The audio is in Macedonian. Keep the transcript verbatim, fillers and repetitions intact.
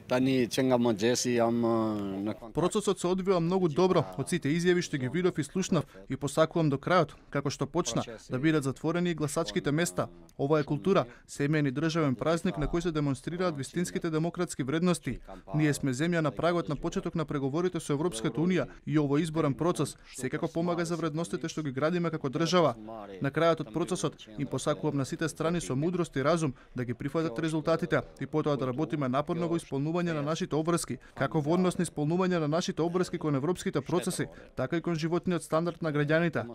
Тани ченгам Джеси ам на Процесот се одвива многу добро, од сите изјави што ги видов и слушнав и посакувам до крајот, како што почна, да бидат затворени и гласачките места. Ова е култура, семеен и државен празник на кој се демонстрираат вистинските демократски вредности. Ние сме земја на прагот на почеток на преговорите со Европската унија и овој изборен процес секако помага за вредностите што ги градиме како држава. На крајот од процесот им посакувам на сите страни со мудрост и разум да ги прифатат резултатите и потоа да работиме напорно во исполнување на нашите обврски, како во однос на исполнување на нашите обврски кон европските процеси, така и кон животниот стандард на граѓаните.